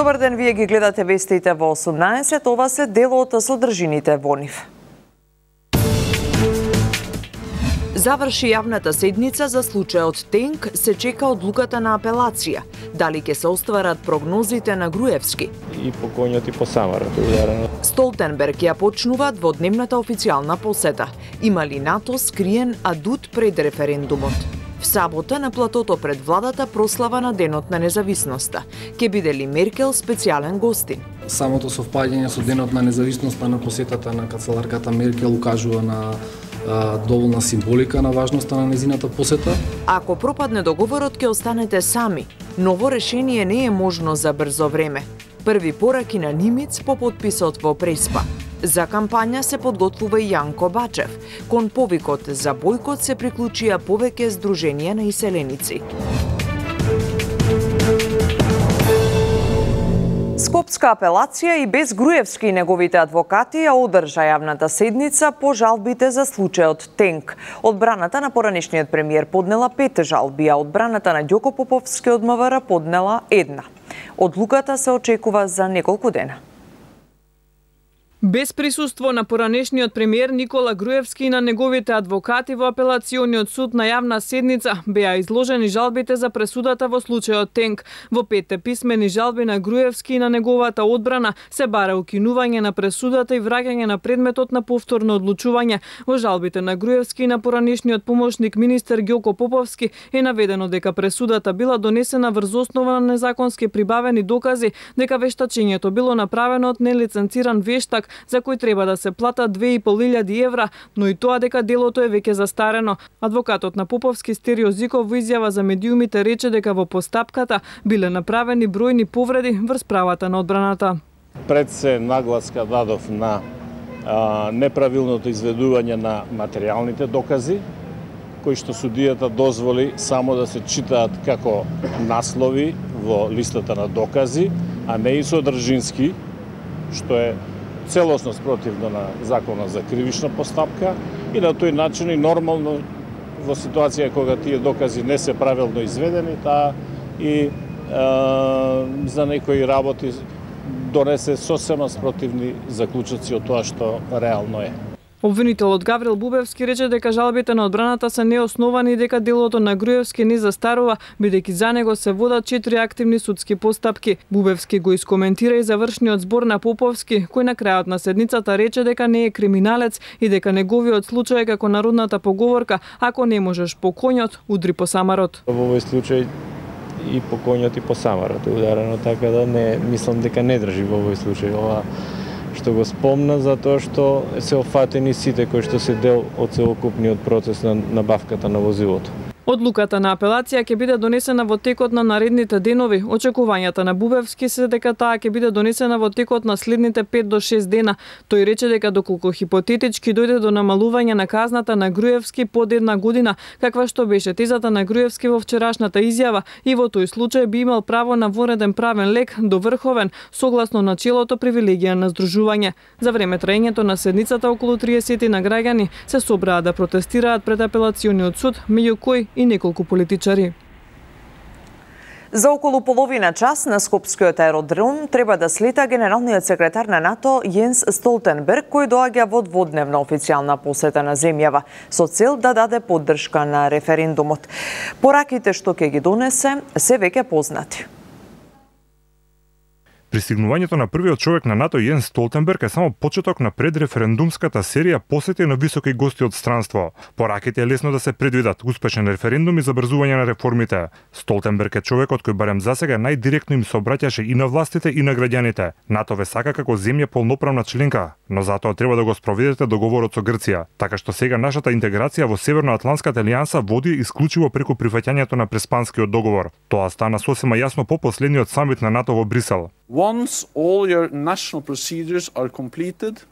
Добар ден, вие ги гледате вестите во 18, ова се дел од содржините во нив. Заврши јавната седница за случајот Тенк, се чека одлуката на апелација. Дали ќе се остварат прогнозите на Груевски? И по коњот и по Самарот. Столтенберг ја почнува дводневната официјална посета. Има ли НАТО скриен адут пред референдумот? В сабота на платото пред владата прослава на Денот на независноста. Ке биде ли Меркел специјален гостин? Самото совпаѓање со Денот на независноста на посетата на канцеларката Меркел укажува на доволна символика на важноста на незината посета. Ако пропадне договорот, ќе останете сами. Ново решение не е можно за брзо време. Први пораки на Нимиц по подписот во Преспа. За кампања се подготвува и Јанко Бачев. Кон повикот за бојкот се приклучија повеќе здруженија на иселеници. Скопска апелација и без Груевски и неговите адвокати ја одржа јавната седница по жалбите за случајот Тенк. Одбраната на поранешниот премиер поднела 5 жалби, а одбраната на Ѓоко Поповски од МВР поднела 1. Одлуката се очекува за неколку дена. Без присуство на поранешниот премиер Никола Груевски и на неговите адвокати во апелациониот суд на јавна седница беа изложени жалбите за пресудата во случајот Тенк. Во 5 писмени жалби на Груевски и на неговата одбрана се бара укинување на пресудата и враќање на предметот на повторно одлучување. Во жалбите на Груевски и на поранешниот помошник министер Ѓоко Поповски е наведено дека пресудата била донесена врз основа на незаконски прибавени докази, дека вештачењето било направено од нелиценциран вештак за кој треба да се платат 2.500 евра, но и тоа дека делото е веќе застарено. Адвокатот на Поповски Стерио Зиков во изјава за медиумите рече дека во постапката биле направени бројни повреди врз правата на одбраната. Пред се нагласка дадов на неправилното изведување на материјалните докази, кои што судијата дозволи само да се читаат како наслови во листата на докази, а не и содржински, што е целосно спротивно на законот за кривична постапка и на тој начин и нормално во ситуација кога тие докази не се правилно изведени, таа и за некои работи донесе сосема спротивни заклучоци од тоа што реално е. Обвинителот Гаврил Бубевски рече дека жалбите на одбраната се неосновани и дека делото на Груевски не застарува, бидејќи за него се водат 4 активни судски постапки. Бубевски го искоментира и завршниот збор на Поповски, кој на крајот на седницата рече дека не е криминалец и дека неговиот случај е како народната поговорка: ако не можеш по коњот, удри по самарот. Во овој случај и по коњот и по самарот ударено, така да не мислам дека не држи во овој случај ова што го спомна, затоа што се офатени сите кои што се дел од целокупниот процес на набавката на возилото. Одлуката на апелација ќе биде донесена во текот на наредните денови. Очекувањата на Бубевски се дека таа ќе биде донесена во текот на следните 5 до 6 дена. Тој рече дека доколку хипотетички дојде до намалување на казната на Груевски под 1 година, каква што беше тезата на Груевски во вчерашната изјава, и во тој случај би имал право на вореден правен лек до врховен, согласно начелото привилегија на здружување. За време траењето на седницата околу 30 на граѓани се собраа да протестираат пред апелациониот суд, меѓу кои и неколку политичари. За околу половина час на Скопскиот аеродром треба да слета генералниот секретар на НАТО Јенс Столтенберг, кој доаѓа во дводневна официјална посета на земјава со цел да даде поддршка на референдумот. Пораките што ќе ги донесе се веќе познати. Пристигнувањето на првиот човек на НАТО Јенс Столтенберг е само почеток на предреферендумската серија посети на високи гости од странство. Пораките е лесно да се предвидат: успешен референдум и забрзување на реформите. Столтенберг е човекот кој барем засега најдиректно им се обраќаше и на властите и на граѓаните. НАТО ве сака како земја полноправна членка, но затоа треба да го спроведете договорот со Грција, така што сега нашата интеграција во Северноатланската алијанса води исклучиво преку прифаќањето на Преспанскиот договор. Тоа стана сосема јасно по последниот самит на НАТО во Брисел. Once all your national procedures are completed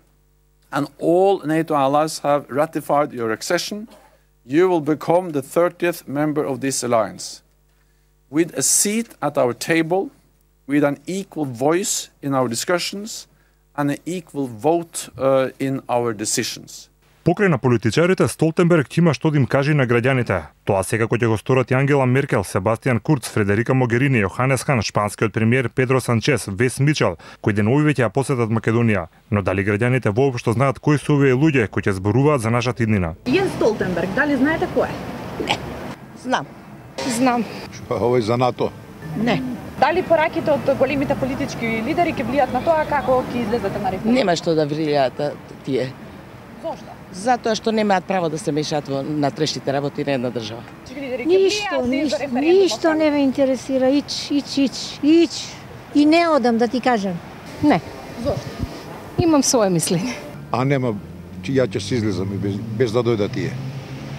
and all NATO allies have ratified your accession, you will become the 30th member of this alliance, with a seat at our table, with an equal voice in our discussions and an equal vote in our decisions. Покрај на политичарите, Столтенберг има што да им каже на граѓаните. Тоа секако ќе го сторат и Ангела Меркел, Себастијан Курц, Фредерика Могерини, Јоханес Хан, шпанскиот премиер Педро Санчес, Вес Мичел, кои денови веќе ја посетат Македонија. Но дали граѓаните воопшто знаат кои се овие луѓе кои ќе зборуваат за нашата иднина? Јенс Столтенберг, дали знаете кој е? Не. Знам. Овој за НАТО? Не. Дали пораките од големите политички лидери ќе влијат на тоа како ќе излезете на референдум? Нема што да влијаат тие. Зошто? Затоа што немаат право да се мешаат во натрешните работи на една држава. Ништо не ме интересира. Ич. И не одам да ти кажам. Не. Зошто? Имам свое мислење. А нема, ја ќе се излезам без да дојдат тие.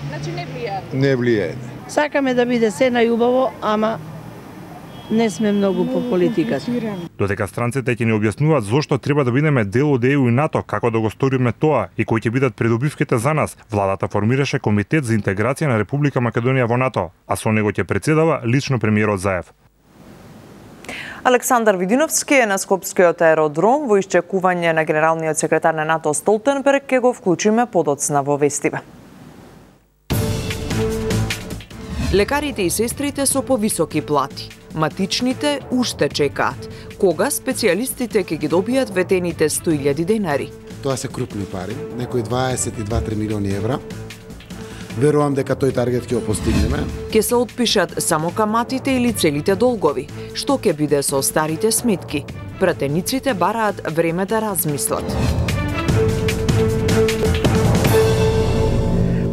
Значи не влијаат? Не влијаат. Сакаме да биде се најубаво, ама не сме многу по политиката. Додека странците ќе ни објаснуваат зошто треба да бидеме дел од ЕУ и НАТО, како да го сториме тоа и кои ќе бидат придобивките за нас, владата формираше комитет за интеграција на Република Македонија во НАТО, а со него ќе председава лично премиерот Заев. Александар Видиновски е на Скопскиот аеродром во исчекување на генералниот секретар на НАТО Столтенберг, ќе го вклучиме подоцна во вестиве. Лекарите и сестрите со повисоки плати. Матичните уште чекаат. Кога специјалистите ќе ги добијат ветените 100.000 денари? Тоа се крупни пари, некои 22-3 милиони евра. Верувам дека тој таргет ќе го постигнеме. Ќе се отпишат само каматите или целите долгови. Што ќе биде со старите сметки? Пратениците бараат време да размислат.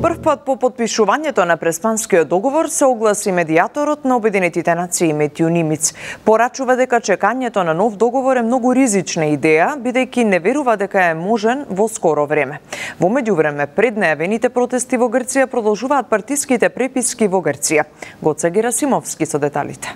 Прв пат по подпишувањето на Преспанскиот договор се огласи медијаторот на Обединетите нации Метју Нимиц. Порачува дека чекањето на нов договор е многу ризична идеја, бидејќи не верува дека е можен во скоро време. Во меѓувреме, пред најавените протести во Грција продолжуваат партиските преписки во Грција. Гоце Герасимовски со деталите.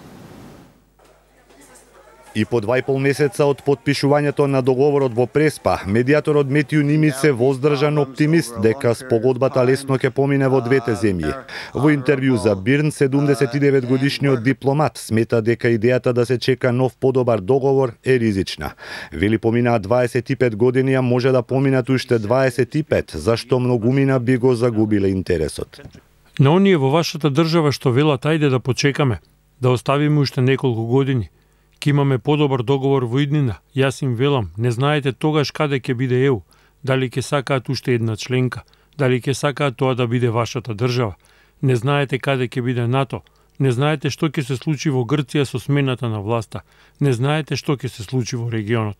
И по 2,5 месеца од подпишувањето на договорот во Преспа, медијаторот Метју Нимиц се воздржан оптимист дека спогодбата лесно ќе помине во двете земји. Во интервју за Бирн, 79 годишниот дипломат смета дека идејата да се чека нов подобар договор е ризична. Вели поминаа 25 години, а може да поминат уште 25, зашто многумина би го загубиле интересот. На оние во вашата држава што велат ајде да почекаме, да оставиме уште неколку години. Ке имаме подобар договор во иднина. Јас им велам, не знаете тогаш каде ќе биде ЕУ, дали ќе сакаат уште една членка, дали ќе сакаат тоа да биде вашата држава. Не знаете каде ќе биде НАТО, не знаете што ќе се случи во Грција со смената на власта, не знаете што ќе се случи во регионот.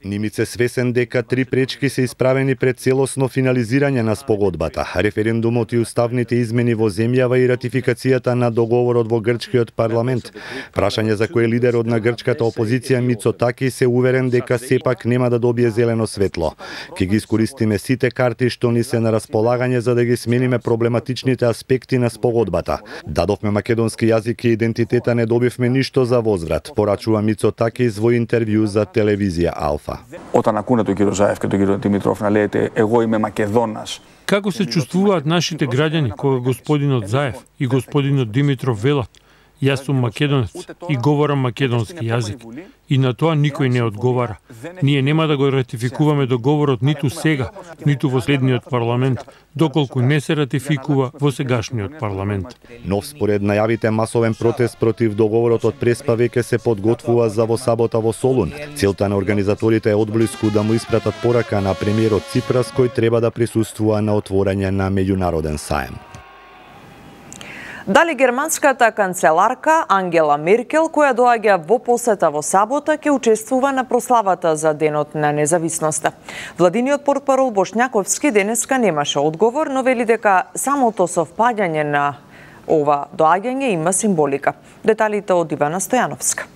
Нимиц е свесен дека 3 пречки се исправени пред целосно финализирање на спогодбата, референдумот и уставните измени во земјава и ратификацијата на договорот во грчкиот парламент. Прашање за кој лидерот на грчката опозиција Мицотаки се уверен дека сепак нема да добие зелено светло. Ке ги искористиме сите карти што ни се на располагање за да ги смениме проблематичните аспекти на спогодбата. Дадовме македонски јазик и идентитета, не добивме ништо за возврат, порачува Мицотаки во интервју за телевизија Алфа. Όταν ακούνε τον κύριο Ζάεφ και τον κύριο Δημητρόφ να λέτε «Εγώ είμαι Μακεδόνας». Како се чувствуваат нашите граѓани кога господинот Заев и господинот Димитров велат «Јас сум македонец и говорам македонски јазик». И на тоа никој не одговара. Ние нема да го ратификуваме договорот ниту сега, ниту во следниот парламент, доколку не се ратификува во сегашниот парламент. Нов според најавите масовен протест против договорот од Преспа веќе се подготвува за во сабота во Солун. Целта на организаторите е одблиску да му испратат порака на премиерот Ципрас, кој треба да присуствува на отворање на меѓународен саем. Дали германската канцеларка Ангела Меркел, која доаѓа во посета во сабота, ќе учествува на прославата за Денот на независноста? Владиниот портпарол Бошњаковски денеска немаше одговор, но вели дека самото совпаѓање на ова доаѓање има символика. Деталите од Ивана Стојановска.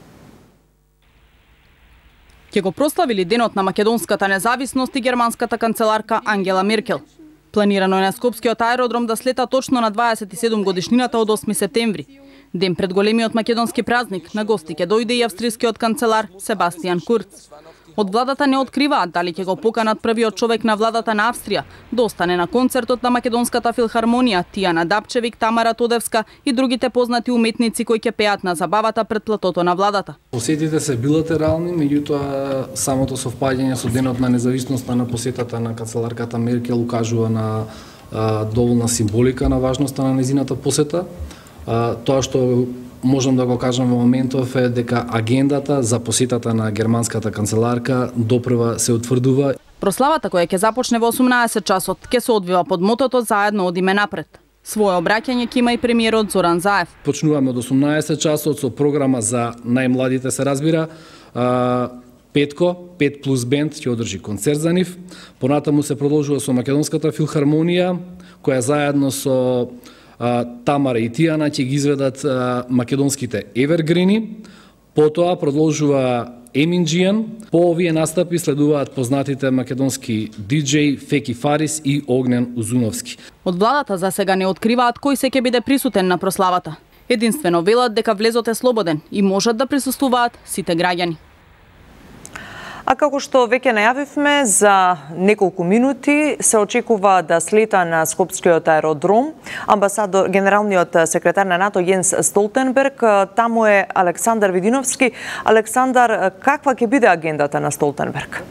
Ќе го прославили Денот на македонската независност и германската канцеларка Ангела Меркел. Планирано е на Скопскиот аеродром да слета точно на 27 годишнината од 8 септември. Ден пред големиот македонски празник, на гости ќе дојде и австрискиот канцелар Себастијан Курц. Од владата не откриваат дали ќе го поканат првиот човек на владата на Австрија да остане на концертот на Македонската филхармонија, Тијана Дапчевик, Тамара Тодевска и другите познати уметници кои ќе пеат на забавата пред платото на владата. Посетите се билатерални, меѓутоа самото совпаѓање со денот на независноста на посетата на канцеларката Меркел укажува на доволна символика на важноста на незината посета. Тоа што можам да го кажам во моментов е дека агендата за посетата на германската канцеларка допрва се утврдува. Прославата која ќе започне во 18 часот ќе се одвива под мотото "Заедно одиме напред". Свое обраќање ќе има и премиерот Зоран Заев. Почнуваме од 18 часот со програма за најмладите, се разбира. Петко, 5 плюс бенд ќе одржи концерт за нив. Понатаму се продолжува со Македонската филхармонија, која заедно со Тамара и Тијана ќе ги изведат македонските евергрини. Потоа продолжува Еминџијан. По овие настапи следуваат познатите македонски диџеј Феки Фарис и Огнен Узуновски. Од владата за сега не откриваат кој се ќе биде присутен на прославата. Единствено велат дека влезот е слободен и можат да присуствуваат сите граѓани. А како што веќе најавивме, за неколку минути се очекува да слета на Скопскиот аеродром генералниот секретар на НАТО Јенс Столтенберг. Таму е Александар Видиновски. Александар, каква ќе биде агендата на Столтенберг?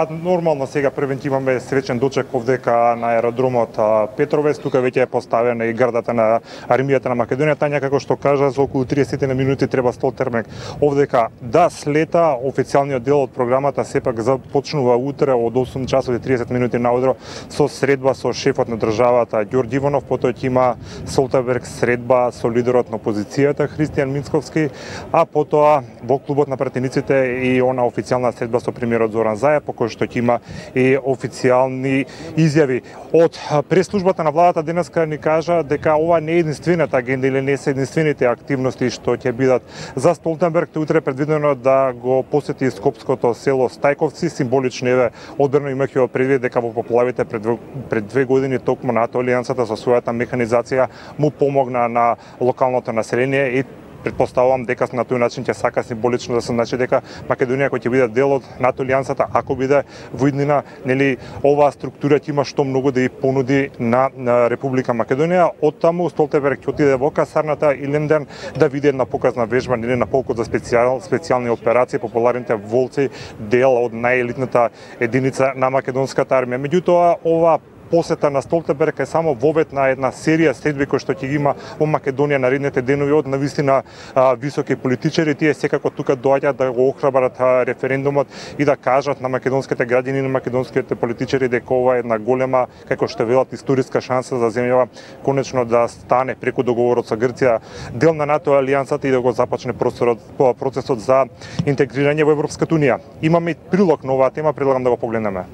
Нормално сега превентиваме свечен дочек овдека на аеродромот Петровец. Тука веќе е поставена и градата на армијата на Македонија. Тања, како што кажа, за околу 30 минути треба Столтенберг овдека да слета. Официјалниот дел од програмата сепак започнува утре од 8 часот и 30 минути наудро со средба со шефот на државата Ѓорѓи Иванов. Потоа ќе има Столтенберг средба со лидерот на опозицијата Христијан Минцковски, а потоа во клубот на пратениците и она официјална средба со премиерот Зоран Заев, кој што ќе има и официјални изјави. Од пресслужбата на владата денеска ни кажа дека ова не е единствената агенда или не се единствените активности што ќе бидат за Столтенберг. Утре предвидено да го посети скопското село Стајковци. Символично е одбрано, имајќи предвид дека во поплавите пред 2 години токму НАТО Алијансата со својата механизација му помогна на локалното население и предпоставувам дека на тој начин ќе сака символично да се значи дека Македонија кој ќе биде дел од НАТО Алијансата, ако биде во иднина, нели оваа структура ќе има што многу да ја понуди на Република Македонија. Оттаму Столтенберг ќе отиде во касарната Иленден да види една показна вежба, нели на полкот за специјални операции, популарните волци, дел од најелитната единица на македонската армија. Меѓутоа, ова посета на Столтенберг е само вовед на една серија средби кои што ќе ги има во Македонија наредните денови од навистина високи политичари. Тие секако тука доаѓаат да го охрабрат референдумот и да кажат на македонските граѓани и на македонските политичари дека ова е една голема, како што велат, историска шанса за земјава конечно да стане преку договорот со Грција дел на НАТО Алијансата и да го започне процесот за интегрирање во Европската унија. Имаме прилог на оваа тема, предлагам да го погледнеме.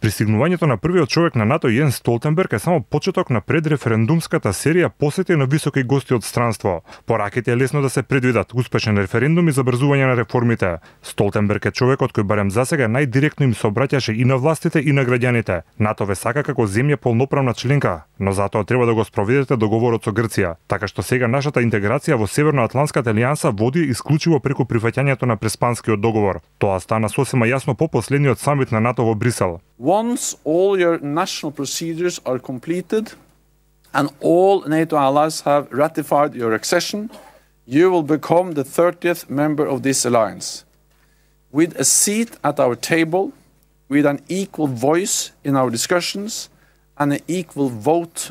Пристигнувањето на првиот човек на НАТО Јенс Столтенберг е само почеток на предреферендумската серија посети на високи гости од странство. Пораките е лесно да се предвидат успешен референдум и забрзување на реформите. Столтенберг е човекот кој барем засега најдиректно им се обраќаше и на властите и на граѓаните. НАТО ве сака како земја полноправна членка, но затоа треба да го спроведете договорот со Грција. Така што сега нашата интеграција во Северноатланската алијанса води исклучиво преку прифаќањето на Преспанскиот договор. Тоа стана сосема јасно по последниот самит на НАТО во Брисел. Once all your national procedures are completed and all NATO allies have ratified your accession, you will become the 30th member of this alliance. With a seat at our table, with an equal voice in our discussions and an equal vote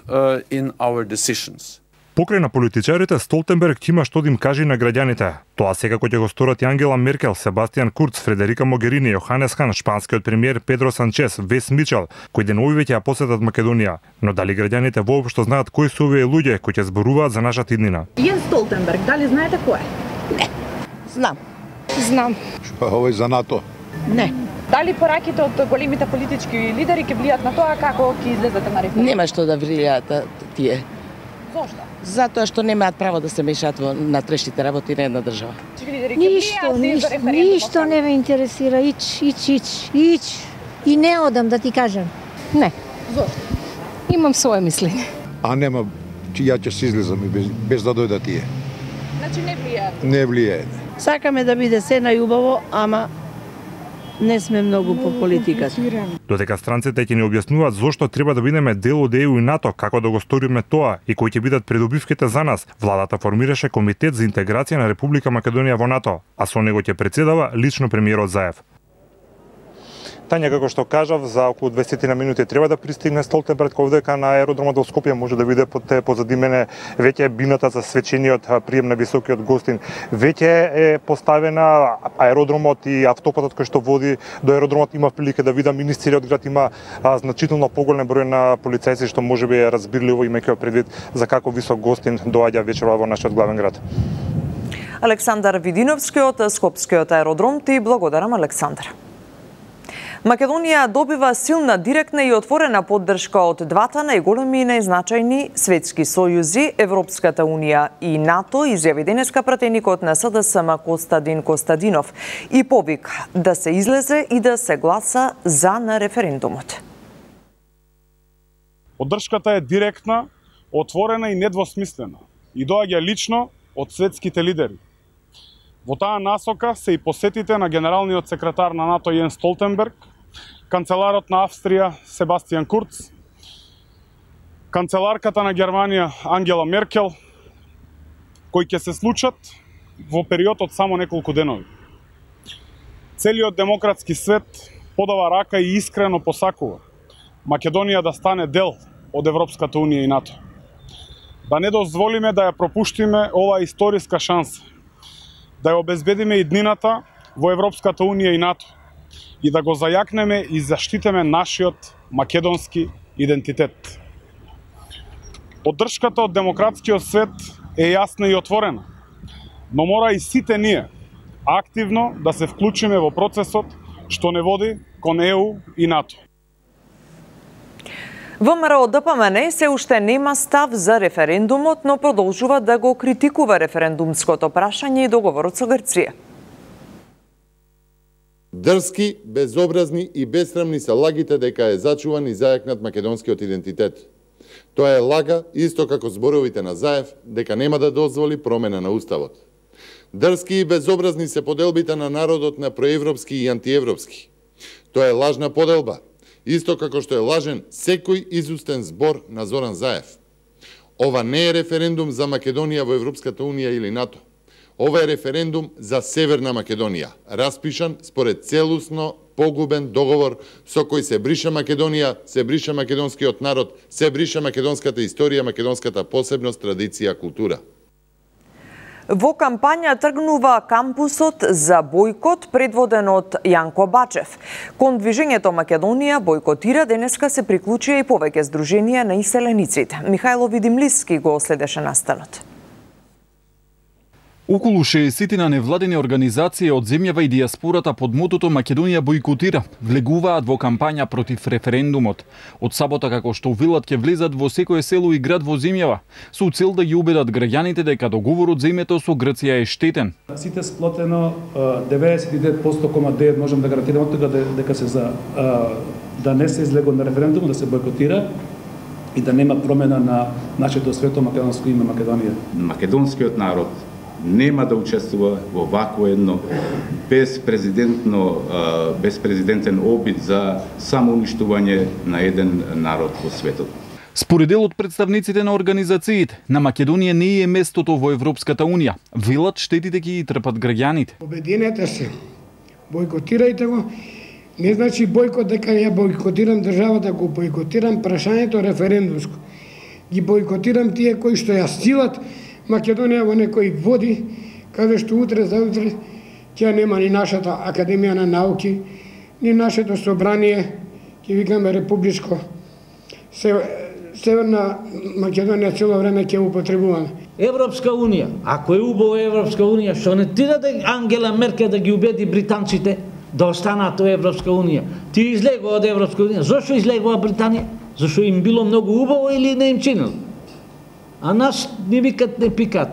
in our decisions. Покрај на политичарите, Столтенберг има што да им каже на граѓаните. Тоа секако ќе го сторат и Ангела Меркел, Себастијан Курц, Фредерика Могерини, Јоханес Хан, шпанскиот премиер Педро Санчес, Вес Мичел, кои денови веќе ја посетат Македонија. Но дали граѓаните воопшто знаат кои се овие луѓе кои ќе зборуваат за нашата иднина? Јенс Столтенберг, дали знаете кој е? Не. Знам. Што е овој за НАТО? Не. Дали пораките од големите политички лидери ќе влијат на тоа како ќе излезете на референдум? Нема што да влијаат тие. Зошто? Затоа што немаат право да се мешаат во натрешните работи на една држава. Ништо не ме интересира. Ич. И не одам, да ти кажам. Не. Зошто? Имам свое мислење. А нема, ја ќе се излезам без да дојдат тие. Не Значи не влијаат. Не влијаат. Сакаме да биде се најубаво, ама не сме многу по политиката. Додека странците ќе ни објаснуваат зошто треба да бидеме дел од ЕУ и НАТО, како да го сториме тоа и кои ќе бидат придобивките за нас, владата формираше Комитет за интеграција на Република Македонија во НАТО, а со него ќе председава лично премиерот Заев. Тања, како што кажав, за околу 20 на минути треба да пристигне Столтенберг овдека на аеродромот во Скопје. Може да видите позади мене веќе бината за свечениот прием на високиот гостин. Веќе е поставена аеродромот и автопатот кој што води до аеродромот. Има прилика да видам министерот град има значително поголем број на полицајци, што можеби е разбирливо имајќи предвид за како висок гостин доаѓа вечерва во нашиот главен град. Александар Видиновски од Скопскиот аеродром, ти благодарам, Александар. Македонија добива силна, директна и отворена поддршка од двата најголеми и најзначајни светски сојузи, Европската унија и НАТО, изјави денеска пратеникот на СДСМ Костадин Костадинов и повика да се излезе и да се гласа за на референдумот. Поддршката е директна, отворена и недвосмислена и доаѓа лично од светските лидери. Во таа насока се и посетите на генералниот секретар на НАТО Јенс Столтенберг, канцеларот на Австрија Себастијан Курц, канцеларката на Германија Ангела Меркел, кои ќе се случат во период од само неколку денови. Целиот демократски свет подава рака и искрено посакува Македонија да стане дел од Европската унија и НАТО. Да не дозволиме да ја пропуштиме оваа историска шанса, да ја обезбедиме иднината во Европската унија и НАТО и да го зајакнеме и заштитиме нашиот македонски идентитет. Поддршката од демократскиот свет е јасна и отворена, но мора и сите ние активно да се вклучиме во процесот што не води кон ЕУ и НАТО. ВМРО ДПМН се уште нема став за референдумот, но продолжува да го критикува референдумското прашање и договорот со Грција. Дрски, безобразни и бесрамни се лагите дека е зачуван и зајакнат македонскиот идентитет. Тоа е лага, исто како зборовите на Заев, дека нема да дозволи промена на уставот. Дрски и безобразни се поделбите на народот на проевропски и антиевропски. Тоа е лажна поделба, исто како што е лажен секој изустен збор на Зоран Заев. Ова не е референдум за Македонија во Европската унија или НАТО. Ова е референдум за Северна Македонија, распишан според целусно погубен договор со кој се бриша Македонија, се бриша македонскиот народ, се бриша македонската историја, македонската посебност, традиција, култура. Во кампања тргнува кампусот за бојкот предводен од Јанко Бачев. Кон движењето Македонија бојкотира денеска се приклучија и повеќе здруженија на иселениците. Михајло Видимлиски го следеше настанот. Околу 60 невладени организации од земјава и дијаспората под мотото Македонија бојкотира влегуваат во кампања против референдумот. Од сабота како што велат ќе влезат во секое село и град во земјава, со цел да ги убедат граѓаните дека договорот за името со Грција е штетен. Сите сплотено 99,9% можам да гарантирам од тога дека се за да не се излего на референдум, да се бојкотира и да нема промена на нашето свето македонско име Македонија. Македонскиот народ нема да учествува во вакво едно безпрезидентен обид за самоуништување на еден народ во светот. Според дел од представниците на организациите, на Македонија не е местото во Европската унија. Велат штетите ги трпат граѓаните. Обединете се, бојкотирајте го. Не значи бојкот дека ја бојкотирам државата, го бојкотирам прашањето референдумско. Ги бојкотирам тие кои што ја силат Македонија во некои води, каде што утре заутре ќе нема ни нашата Академија на науки, ни нашето собрание, ќе викаме републичко. Северна Македонија цело време ќе употребуваме. Европска унија, ако е убаво Европска унија, што не ти даде Ангела Меркел да ги убеди британците да останат во Европска унија? Ти излегува од Европска унија. Зошто излегува Британија? Зошто им било многу убаво или не им чинило? А нас не викат, не пикат.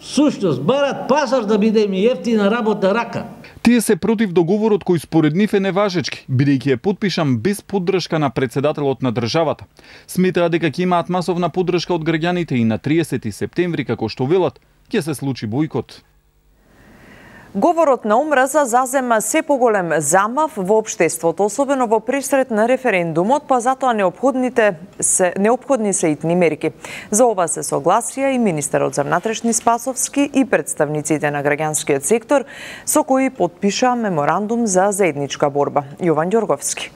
Сушност, барат пазар да биде ми ефтина работа рака. Тие се против договорот кој според нив е неважечки, бидејќи е подпишан без поддршка на председателот на државата. Сметаа дека ќе имаат масовна поддршка од граѓаните и на 30 септември, како што велат, ќе се случи бојкот. Говорот на омраза зазема се поголем замав во општеството, особено во пресред на референдумот, па затоа неопходни се итни мерки. За ова се согласија и министерот за внатрешни Спасовски и представниците на граѓанскиот сектор, со кои потпиша меморандум за заедничка борба. Јован Ѓорговски.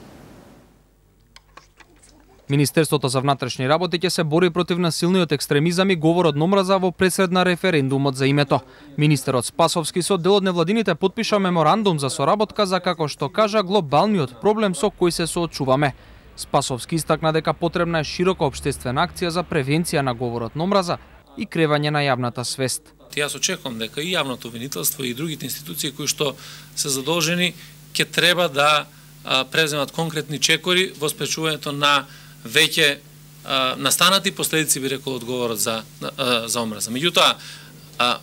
Министерството за внатрешни работи ќе се бори против насилниот екстремизам и говорот на омраза во пресред на референдумот за името. Министерот Спасовски со дел од невладините потпиша меморандум за соработка за, како што кажа, глобалниот проблем со кој се соочуваме. Спасовски истакна дека потребна е широка општествена акција за превенција на говорот на омраза и кревање на јавната свест. Јас очекувам дека и јавното обвинителство и другите институции кои што се задолжени ќе треба да преземат конкретни чекори во спречувањето на веќе настанати последици, би рекол, од говорот за омраза. Меѓутоа,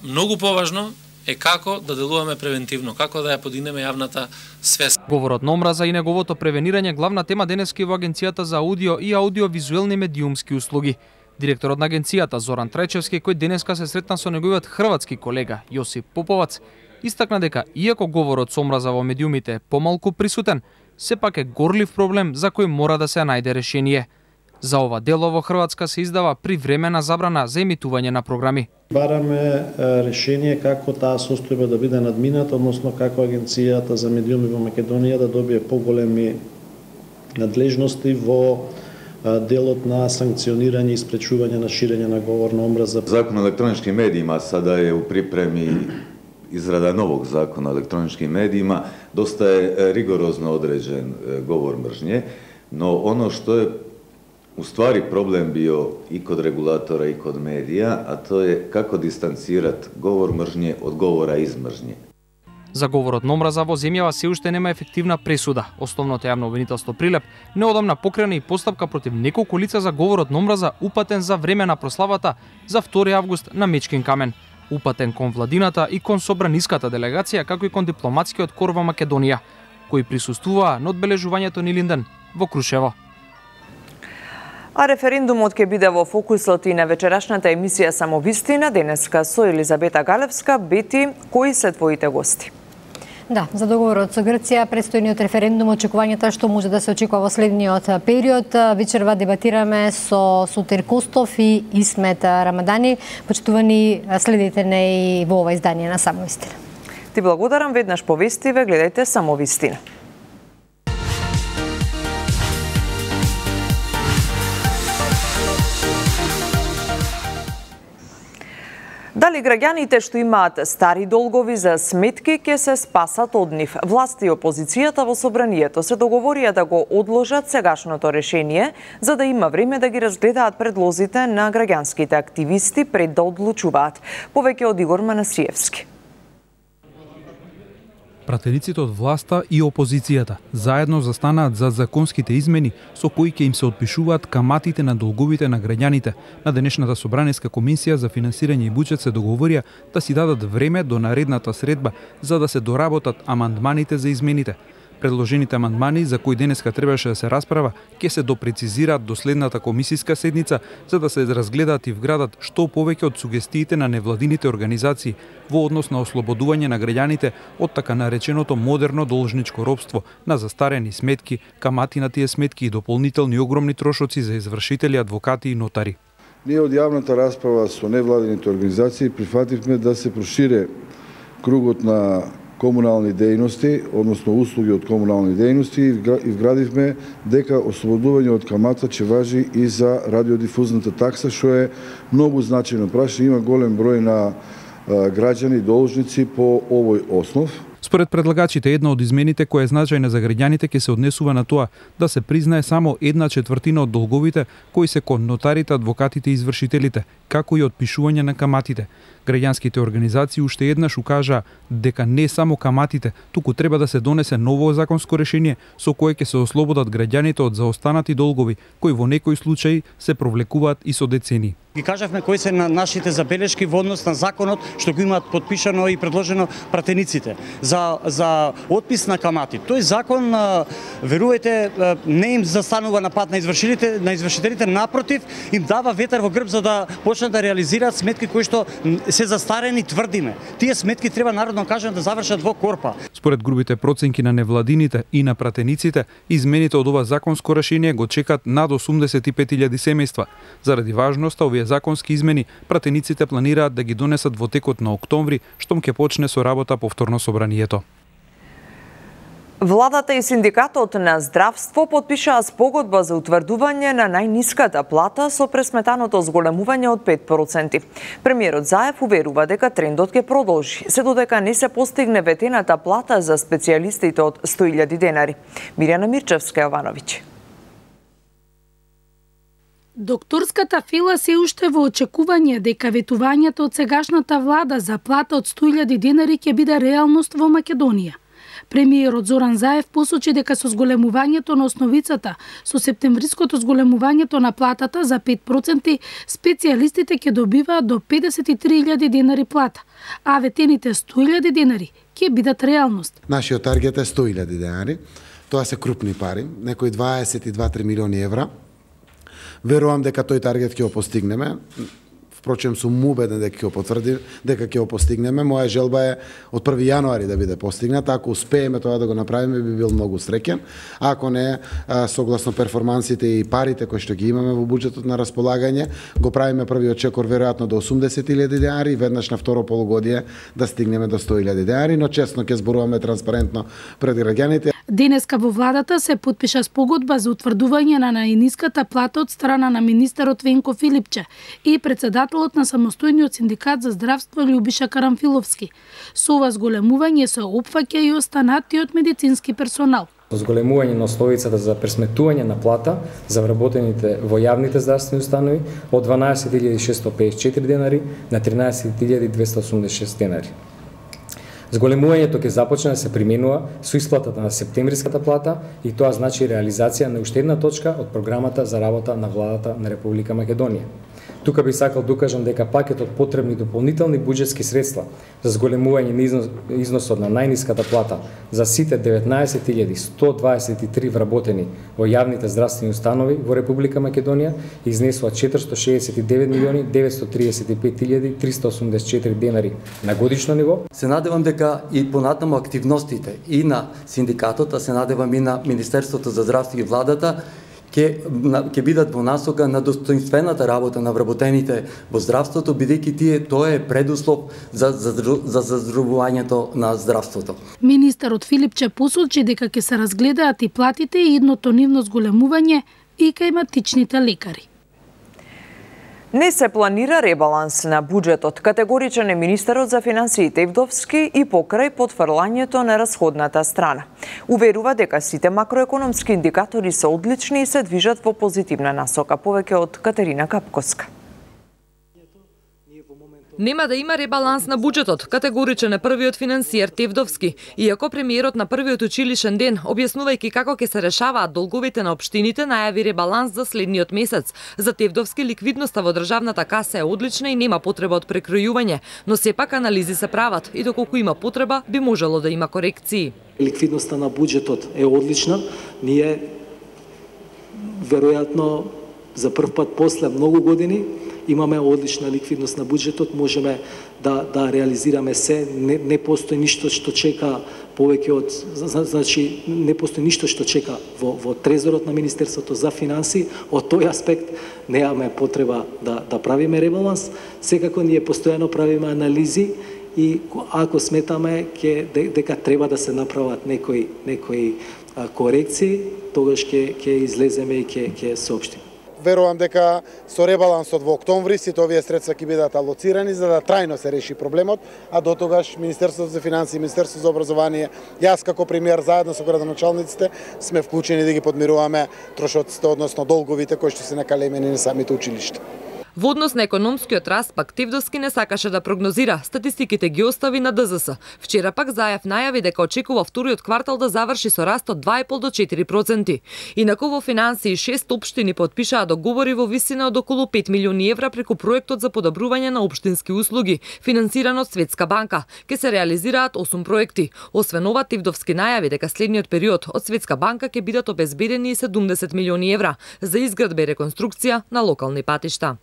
многу поважно е како да делуваме превентивно, како да ја подигнеме јавната свест. Говорот на омраза и неговото превенирање главна тема денески во Агенцијата за аудио и аудиовизуелни медиумски услуги. Директорот на агенцијата Зоран Трајчевски, кој денеска се сретна со неговиот хрватски колега Јосип Поповац, истакна дека иако говорот со омраза во медиумите е помалку присутен, сепак е горлив проблем за кој мора да се најде решение. За ова дело во Хрватска се издава привремена забрана за емитување на програми. Бараме решение како таа состојба да биде надмината, односно како Агенцијата за медиуми во Македонија да добие поголеми надлежности во делот на санкционирање и спречување на ширење на говор на омраза. Закон о електронички медиима сада е у припреми израда новог закона о електроничkim медиима, доста е ригорозно одреđen говор мржње, но оно што е уствари проблем био и код регулатора и код медија, а то е како дистанцират говор мржње од говора из мржње. За говорот на омраза во земјава се уште нема ефективна пресуда. Основното јавно обвинителство Прилеп неодамна покрена и постапка против неколку лица за говорот на омраза упатен за време на прославата за 2 август на Мечкин камен. Упатен кон владината и кон собраниската делегација, како и кон дипломатскиот кор во Македонија, кои присуствуваа на одбележувањето на Илинден во Крушево. А референдумот ќе биде во фокусот и на вечерашната емисија Самовистина, денеска со Елизабета Галевска. Бети, кои се твоите гости? Да, за договорот со Грција, предстојниот референдум, очекувањата што може да се очекува во следниот период. Вечерва дебатираме со Сутир Костов и Исмет Рамадани. Почитувани, следите не и во ова издание на Самовистина. Ти благодарам, веднаш повестиве, гледајте Самовистина. Дали граѓаните што имаат стари долгови за сметки ќе се спасат од нив? Власти и опозицијата во собранието се договорија да го одложат сегашното решение, за да има време да ги разгледаат предлозите на граѓанските активисти пред да одлучуваат. Повеќе од Игор Манасиевски. Пратениците од власта и опозицијата заедно застанаат за законските измени со кои ќе им се отпишуваат каматите на долговите на граѓаните. На денешната собраниска комисија за финансирање и буџет се договорија да си дадат време до наредната средба за да се доработат амандманите за измените. Предложените амандмани за кои денеска требаше да се расправа ќе се допрецизираат до следната комисиска седница за да се разгледаат и вградат што повеќе од сугестиите на невладините организации во однос на ослободување на граѓаните од така нареченото модерно должничко робство на застарени сметки, камати на тие сметки и дополнителни огромни трошоци за извршители, адвокати и нотари. Ние од јавната расправа со невладините организации прифативме да се прошире кругот на комунални дејности, односно услуги од комунални дејности и вградивме дека ослободување од камата ќе важи и за радиодифузната такса, што е многу значајно прашање. Има голем број на граѓани должници по овој основ. Според предлагачите, една од измените која е значајна за граѓаните ќе се однесува на тоа да се признае само 1/4 од долговите кои се кон нотарите, адвокатите и извршителите, како и отпишување на каматите. Граѓанските организации уште еднаш укажаа дека не само каматите, туку треба да се донесе ново законско решение со кое ќе се ослободат граѓаните од заостанати долгови, кои во некои случаи се провлекуваат и со децени. Ги кажавме кои се на нашите забелешки во однос на законот што го имаат подпишано и предложено пратениците за отпис на камати. Тој закон, верувајте, не им застанува на пат на извршителите, напротив, им дава ветер во грб за да почнат да реализираат сметки кои што се застарени, тврдиме. Тие сметки треба народно кажано да завршат во корпа. Според грубите проценки на невладините и на пратениците, измените од ова законско решение го чекат над 85.000 семејства. Заради важноста овие законски измени, пратениците планираат да ги донесат во текот на октомври, штом ќе почне со работа повторно собранието. Владата и синдикатот на здравство подпишаа спогодба за утврдување на најниската плата со пресметаното зголемување од 5%. Премиерот Заев уверува дека трендот ќе продолжи, се додека не се постигне ветената плата за специјалистите од 100.000 денари. Мирјана Мирчевска-Јовановиќ. Докторската фила се уште во очекување дека ветувањето од сегашната влада за плата од 100.000 денари ќе биде реалност во Македонија. Премиерот Зоран Заев посочи дека со зголемувањето на основицата, со септемвриското зголемувањето на платата за 5%, специјалистите ќе добиваат до 53.000 денари плата, а ветените 100.000 денари ќе бидат реалност. Нашиот таргет е 100.000 денари. Тоа се крупни пари, некои 22-3 милиони евра. Верувам дека тој таргет ќе го постигнеме. Впрочем, сум убеден дека ќе го потврдим, дека ќе го постигнеме. Моја желба е од 1 јануари да биде постигната. Ако успееме тоа да го направиме, би бил многу среќен. Ако не, согласно перформансите и парите кои што ги имаме во буџетот на располагање, го правиме првиот чекор веројатно до 80.000 денари и веднаш на второ полугодие да стигнеме до 100.000 денари, но честно ќе зборуваме транспарентно пред граѓаните. Денеска во владата се подпиша спогодба за утврдување на најниската плата од страна на министерот Венко Филипче и председателот на самостојниот синдикат за здравство Љубиша Карамфиловски. Со ова зголемување се опфаќа и останатиот медицински персонал. Зголемување на основицата за пресметување на плата за вработените во јавните здравствени установи од 12.654 денари на 13.286 денари. Зголемувањето ќе започне да се применува со исплатата на септемвриската плата и тоа значи реализација на уште една точка од програмата за работа на владата на Република Македонија. Тука би сакал да укажам дека пакетот потребни дополнителни буџетски средства за зголемување на износот на најниската плата за сите 19.123 вработени во јавните здравствени установи во Република Македонија изнесува 469.935.384 денари на годишно ниво. Се надевам дека и понатаму активностите и на синдикатот, а се надевам и на Министерството за здравство и владата ќе бидат во насока на достоинствената работа на вработените во здравството, бидејќи тоа е предуслов за заздравувањето на здравството. Министерот Филипче посочи дека ќе се разгледаат и платите и идното нивно зголемување и кај лекари. Не се планира ребаланс на буџетот, категоричен е министерот за финансиите Ивдовски и покрај потфрлањето на расходната страна. Уверува дека сите макроекономски индикатори се одлични и се движат во позитивна насока. Повеќе од Катерина Капковска. Нема да има ребаланс на буџетот, категоричен е првиот финансиер Тевдовски, иако премиерот на првиот училишен ден, објаснувајќи како ќе се решаваат долговите на општините, најави ребаланс за следниот месец. За Тевдовски ликвидноста во државната каса е одлична и нема потреба од прекројување, но сепак анализи се прават и доколку има потреба, би можело да има корекции. Ликвидноста на буџетот е одлична. Ние веројатно за прв пат после многу години имаме одлична ликвидност на буџетот, можеме да реализираме се, не постои ништо што чека повеќе од, значи не постои ништо што чека во трезорот на Министерството за финансии. Од тој аспект немаме потреба да правиме ребаланс. Секако ние постојано правиме анализи и ако сметаме дека треба да се направат некои корекции, тогаш ќе излеземе и ќе соопштиме. Верувам дека со ребалансот во октомври сите овие средства ќе бидат алоцирани за да трајно се реши проблемот, а до тогаш Министерството за финансии, Министерството за образование, јас како премиер заедно со градоначалниците сме вклучени да ги подмируваме трошоците, односно долговите кои што се накалемени на самите училишта. Во однос на економскиот раст, пак Тевдовски не сакаше да прогнозира, статистиките ги остави на ДЗС. Вчера пак Заев најави дека очекува вториот квартал да заврши со раст од 2,5 до 4%. Инаку во финансии 6 општини потпишаа договори во висина од околу 5 милиони евра преку проектот за подобрување на општински услуги, финансиран од Светска банка. Ке се реализираат 8 проекти. Освен ова, Тивдовски најави дека следниот период од Светска банка ќе бидат обезбедени и 70 милиони евра за изградба и реконструкција на локални патишта.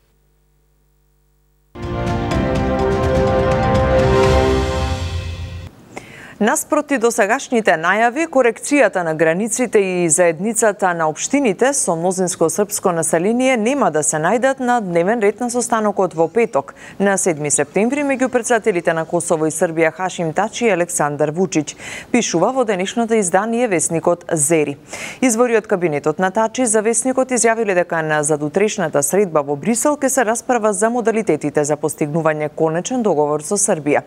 Наспроти досегашните најави, корекцијата на границите и заедницата на општините со мнозинско српско население нема да се најдат на дневен ред на состанокот во петок, на 7 септември, меѓу председателите на Косово и Србија Хашим Тачи и Александар Вучич, пишува во денешното издание весникот Зери. Извори од кабинетот на Тачи за весникот изјавиле дека на задутрешната средба во Брисел ќе се расправа за модалитетите за постигнување конечен договор со Србија.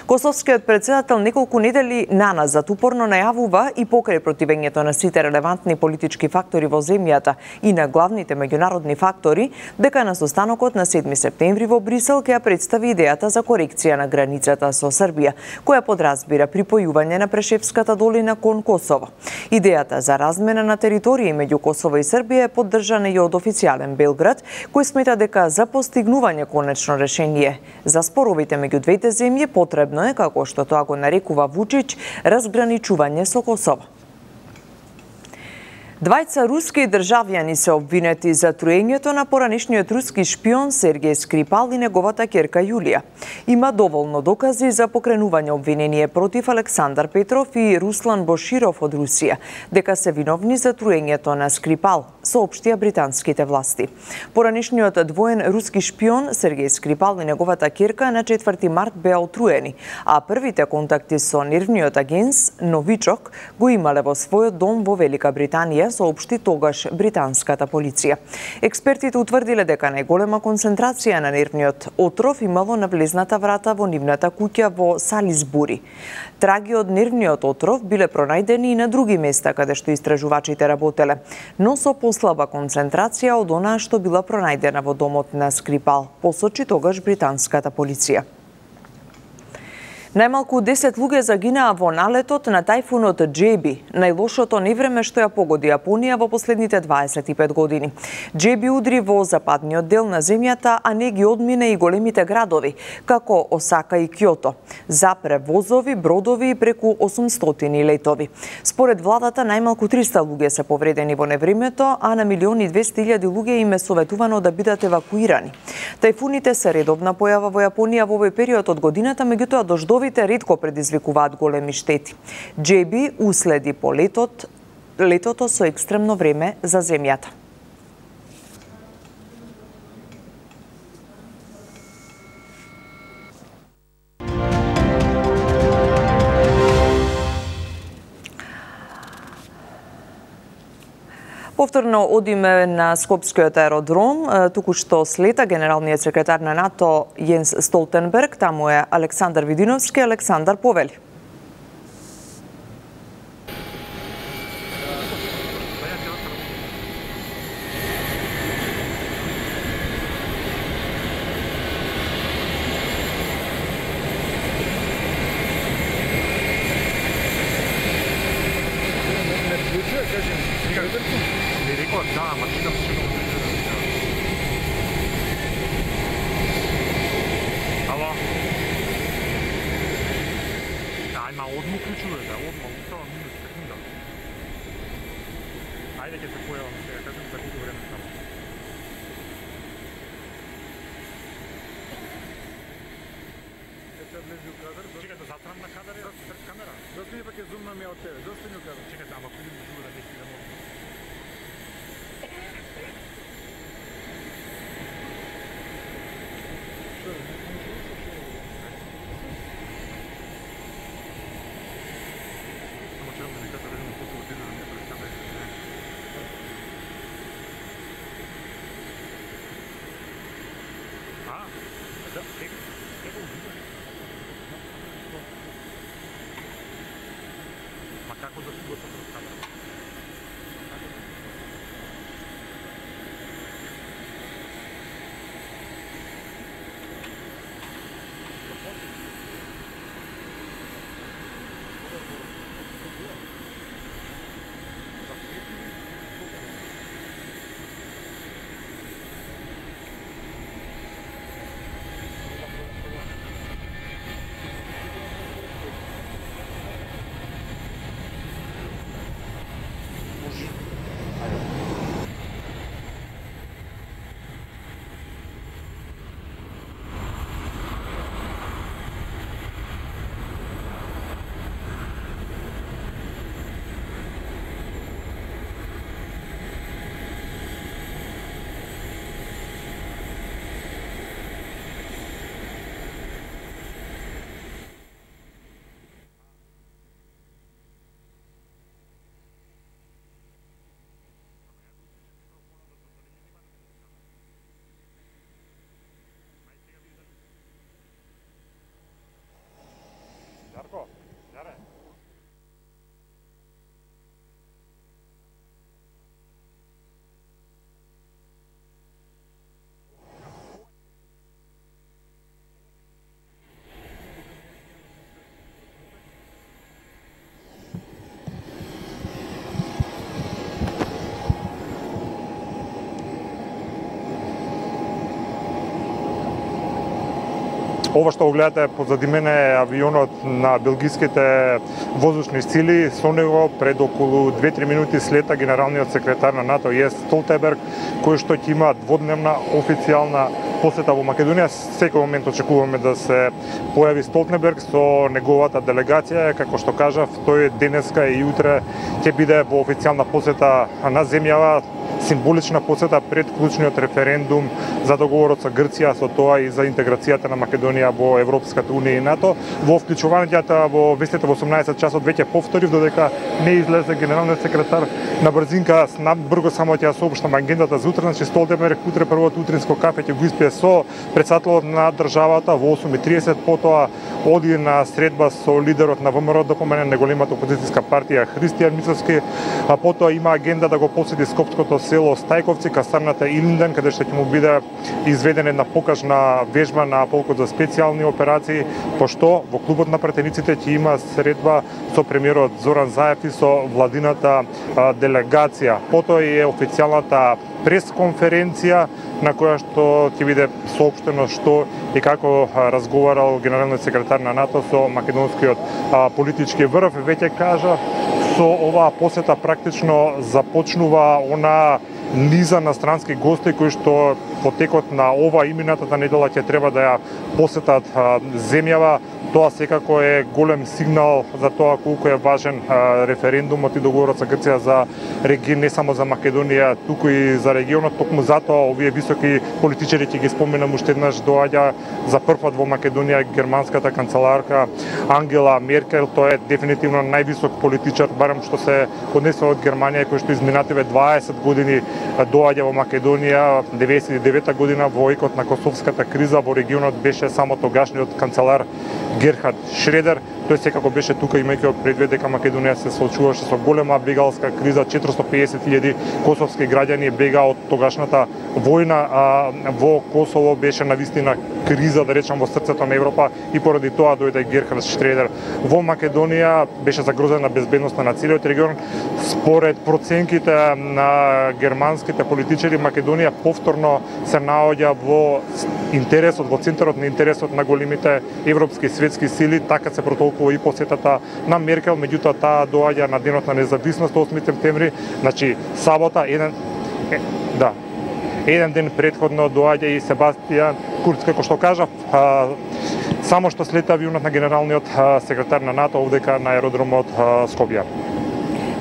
Косовскиот председател неколку недели наназад упорно најавува и покрај противењето на сите релевантни политички фактори во земјата и на главните меѓународни фактори, дека на состанокот на 7 септември во Брисел ќе ја представи идејата за корекција на границата со Србија, која подразбира припојување на Прешевската долина кон Косово. Идејата за размена на територии меѓу Косово и Србија е поддржана и од официјален Белград, кој смета дека за постигнување конечно решение за споровите меѓу двете земји потребно е, како што тоа го нарекува Вучич, разграничување со Косово. Двајца руски државјани се обвинети за труењето на поранешниот руски шпион Сергеј Скрипал и неговата ќерка Јулија. Има доволно докази за покренување обвинение против Александар Петров и Руслан Боширов од Русија, дека се виновни за труењето на Скрипал, соопштија британските власти. Поранешниот двоен руски шпион Сергеј Скрипал и неговата ќерка на 4 март беа отруени, а првите контакти со нервниот агенс Новичок го имале во својот дом во Велика Британија, соопшти тогаш британската полиција. Експертите утврдиле дека најголема концентрација на нервниот отров имало на влезната врата во нивната куќа во Салисбури. Траги од нервниот отров биле пронајдени и на други места каде што истражувачите работеле, но со послаба концентрација од онаа што била пронајдена во домот на Скрипал, посочи тогаш британската полиција. Најмалку 10 луѓе загинаа во налетот на тајфунот Джеби, најлошото невреме што ја погоди Јапонија во последните 25 години. Джеби удри во западниот дел на земјата, а не ги одмине и големите градови, како Осака и Кјото. Запре возови, бродови и преку 800 летови. Според владата, најмалку 300 луѓе се повредени во невремето, а на 1.200.000 луѓе им е советувано да бидат евакуирани. Тајфуните се редовна појава во Јапонија во овој период од годината, меѓутоа дождовите ретко предизвикуваат големи штети. Джеби уследи по летото со екстремно време за земјата. Повторно одиме на Скопскиот аеродром. Туку-што слета генералниот секретар на НАТО Јенс Столтенберг, таму е Александар Видиновски. Александар, повели. Ова што го гледате позади мене е авионот на белгиските воздушни сили. Со него пред околу 2-3 минути слета генералниот секретар на НАТО Јенс Столтенберг, кој што ќе има дводневна официјална посета во Македонија. Секој момент очекуваме да се појави Столтенберг со неговата делегација. Како што кажав, тој денеска и утре ќе биде во официјална посета на земјава, символична посета пред клучниот референдум за договорот со Грција, со тоа и за интеграцијата на Македонија во Европската унија и НАТО. Во вклучувањето во вестите во 18 часот веќе повторив, додека не излезе генералниот секретар на брзинка, брзо само ќе ја соопштам агендата за утре. Значи Столтенберг утре првото утринско кафе ќе го испие со претседателот на државата во 8:30, потоа оди на средба со лидерот на ВМРО, да помене неголемата опозицијска партија Христијан Мицовски, а потоа има агенда да го посети скопското село Стајковци, касарната Илинден, каде што ќе му биде изведена една покажна вежба на полкот за специјални операции, пошто во клубот на пратениците ќе има средба со премиерот Зоран Заев и со владината делегација. Потоа е официјалната пресконференција на која што ќе биде соопштено што и како разговарал генералниот секретар на НАТО со македонскиот политички врв. Веќе кажа, со оваа посета практично започнува она низа на странски гости кои што по текот на ова и минатата недела ќе треба да ја посетат земјава. Тоа секако е голем сигнал за тоа колку е важен референдумот и договорот со Грција за регион, не само за Македонија, туку и за регионот. Токму затоа овие високи политичари, ќе ги споменам уште еднаш, доаѓа за прв пат во Македонија германската канцеларка Ангела Меркел. Тоа е дефинитивно највисок политичар, барем што се однесува од Германија, кој што изминативе 20 години доаѓа во Македонија. 99 година во екот на косовската криза во регионот беше само тогашниот канцелар Герхард Шредер. Тој секако беше тука, имајќи предвид дека Македонија се соочуваше со голема бегалска криза. 450.000 косовски граѓани бега од тогашната војна, а во Косово беше навистина криза, да речам, во срцето на Европа, и поради тоа дојде Герхард Шредер. Во Македонија беше загрозена безбедноста на целиот регион. Според проценките на германските политичари, Македонија повторно се наоѓа во интересот, во центарот на интересот на големите европски и светски сили. Така се протолкува и посетата на Меркел, меѓутоа таа доаѓа на денот на независност 8 септември, значи сабота, еден ден предходно доаѓа и Себастијан Курц, како што кажав, само што слета авионот на генералниот секретар на НАТО овдека на аеродромот Скопје.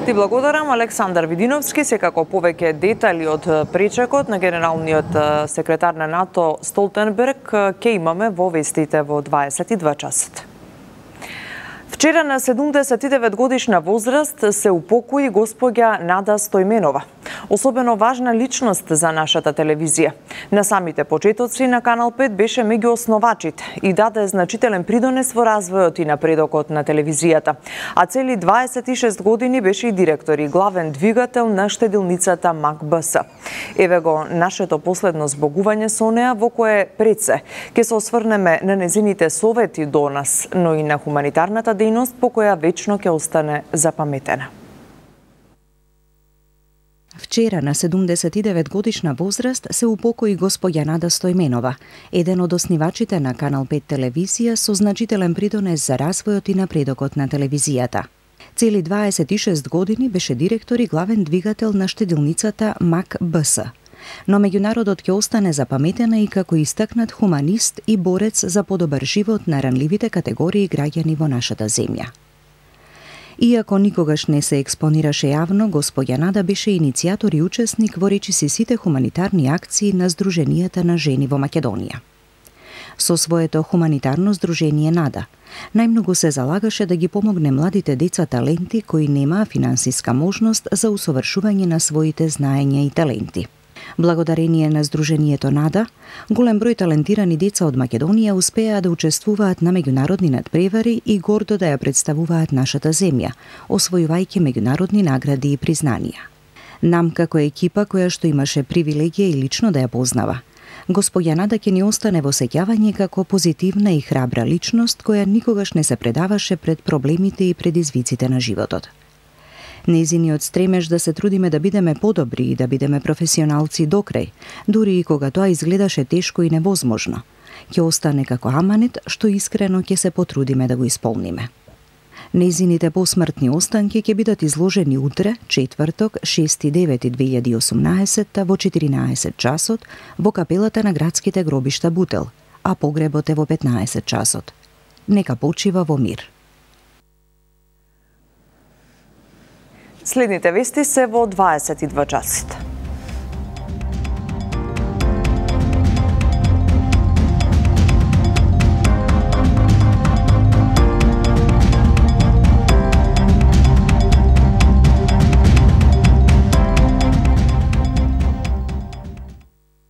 Ти благодарам, Александар Видиновски. Секако повеќе детали од пречекот на генералниот секретар на НАТО Столтенберг ќе имаме во вестите во 22 часот. Вчера на 79 годишна возраст се упокои госпоѓа Нада Стојменова, особено важна личност за нашата телевизија. На самите почетоци на Канал 5 беше меѓу основачите и даде значителен придонес во развојот и напредокот на телевизијата. А цели 26 години беше и директор и главен двигател на штедилницата МАК-БС. Еве го нашето последно збогување со неа, во кое пред се ќе се осврнеме на незините совети до нас, но и на хуманитарната дејност по која вечно ќе остане запаметена. Вчера на 79 годишна возраст се упокои госпоѓа Нада Стојменова, еден од основачите на Канал 5 телевизија со значителен придонес за развојот и напредокот на телевизијата. Цели 26 години беше директор и главен двигател на штедилницата МАК-БС. Но меѓународот ќе остане запаметена и како истакнат хуманист и борец за подобар живот на ранливите категории граѓани во нашата земја. Иако никогаш не се експонираше јавно, госпоѓа Нада беше иницијатор и учесник во речиси сите хуманитарни акции на Сдруженијата на жени во Македонија. Со своето хуманитарно здружение Нада, најмногу се залагаше да ги помогне младите деца таленти кои немаа финансиска можност за усовршување на своите знаења и таленти. Благодарение на Сдруженијето Нада, голем број талентирани деца од Македонија успеа да учествуваат на меѓународни надпревари и гордо да ја представуваат нашата земја, освојувајќи меѓународни награди и признанија. Нам како екипа која што имаше привилегија и лично да ја познава, госпоѓа Нада ќе ни остане во сеќавање како позитивна и храбра личност која никогаш не се предаваше пред проблемите и предизвиците на животот. Нејзиниот стремеж да се трудиме да бидеме подобри и да бидеме професионалци до крај, дури и кога тоа изгледаше тешко и невозможно, Ќе остане како аманет што искрено ќе се потрудиме да го исполниме. Нејзините посмртни останки ќе бидат изложени утре, четврток, 6.9.2018 во 14 часот во капелата на градските гробишта Бутел, а погребот е во 15 часот. Нека почива во мир. Следните вести се во 22 часот.